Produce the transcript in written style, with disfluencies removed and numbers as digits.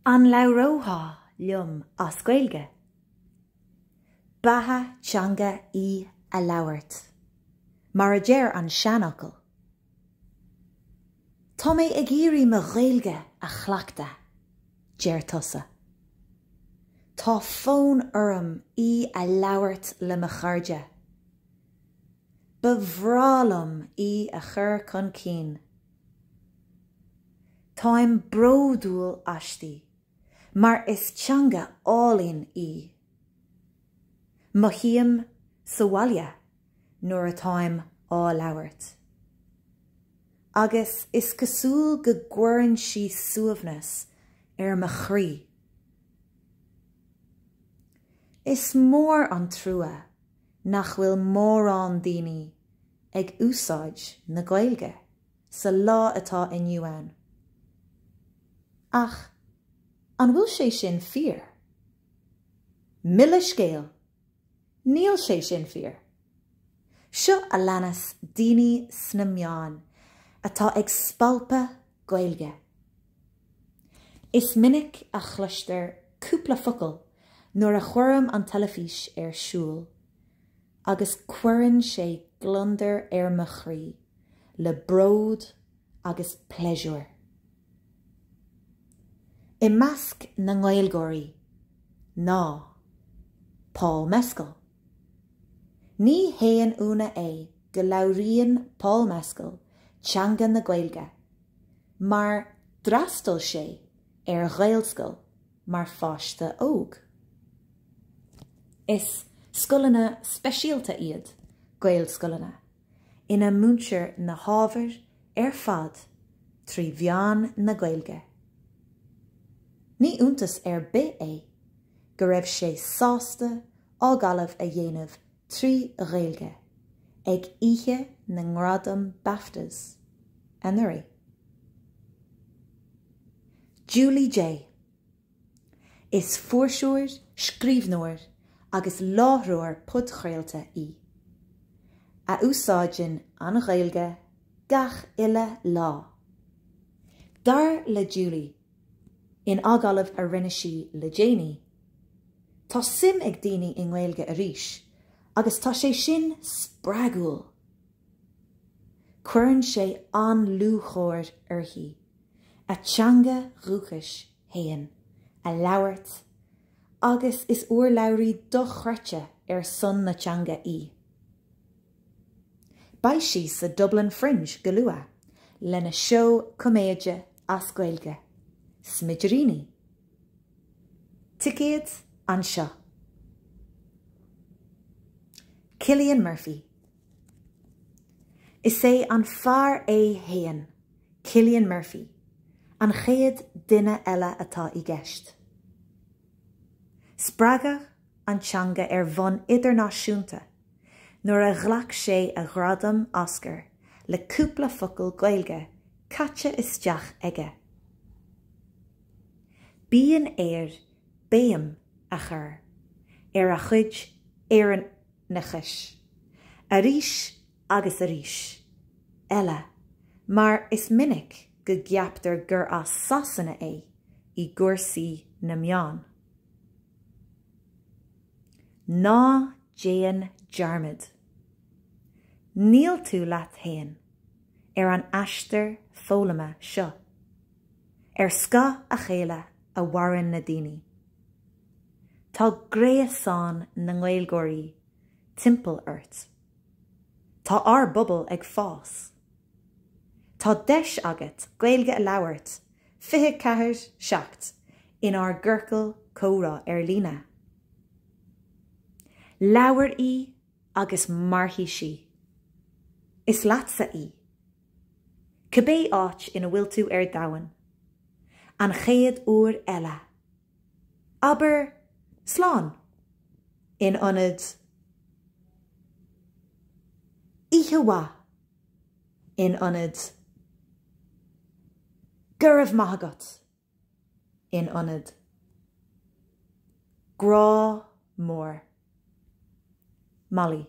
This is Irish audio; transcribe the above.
An labhrófá liom as Gaeilge? Beatha teanga í a labhairt, mar a deir an seanfhocal. Tá mé ag iarraidh mo Ghaeilge a chleachtadh, deir tusa. Tá fonn orm í a labhairt le mo chairde. Ba bhreá liom í a chur chun cinn. Táim bródúil aisti mar is teanga álainn í. Mothaím sa bhaile nuair atáim á labhairt. Agus is cosúil go gcuireann sí suaimhneas ar mo chroí. Is mór an trua nach bhfuil mórán daoine ag úsáid na Gaeilge sa lá atá inniu ann. Ach an bhfuil sé sin fíor? Mo leithscéal, níl sé sin fíor. Seo a leanas daoine sna meáin atá ag spalpadh Gaeilge. Is minic a chloistear cúpla focal nuair a chuirim an teilifís ar siúl agus cuireann sé gliondar ar mo chroí le bród agus pléisiúr. I measc na nGaeilgeoirí ná Paul Mescal. Ní haon ionadh é go labhraíonn Paul Mescal teanga na Gaeilge mar d'fhreastail sé ar Ghaelscoil mar pháiste óg. Is scoileanna speisialta iad Gaelscoileanna ina múintear na hábhair ar fad trí mheán na Gaeilge. Ní iontas ar bith é go raibh sé sásta agallamh a dhéanamh trí Ghaeilge ag oíche na nGradam BAFTAs anuraidh. Julie Jay. Is fuirseoir, scríbhneoir agus láithreoir podchraolta í, a úsáideann an Ghaeilge gach uile lá. Dar le Julie, in agallamh a rinne sí le déanaí, tá suim ag daoine i nGaeilge arís agus tá sé sin spreagúil. Cuireann sé an-lúcháir uirthi a teanga dhúchais fhéin a labhairt agus is urlabhraí dochreidte ar son na teanga í. Beidh sí sa Dublin Fringe go luath lena seó coiméide as Gaeilge, Smidiríní. Ticéid anseo. Cillian Murphy. Is é an fear é fhéin, Cillian Murphy, an chéad duine eile atá i gceist. Spreagadh an teanga ar bhonn idirnáisiúnta nuair a ghlac sé a ghradam Oscar le cúpla focal Gaeilge caite isteach aige. Bíonn air béim a chur ar a chuid Éireannachais arís agus arís eile mar is minic go gceaptar gur as Sasana é i gcúrsaí na meán. Ná déan dearmad, níl tú leat fhéin ar an aistear foghlama seo. Ar scáth a chéile a mhaireann na daoine. Tá gréasán na nGaeilgeoirí timpeall ort. Tá ár bpobal ag fás. Tá deis agat Gaeilge a labhairt 24, 7 inár gciorcal comhrá ar líne. Labhair í agus mairfidh sí. Is leatsa í. Cibé áit ina bhfuil tú ar domhan, an chéad uair eile, abair slán in ionad oíche mhaith in ionad go raibh maith agat in ionad grá mór. Molly.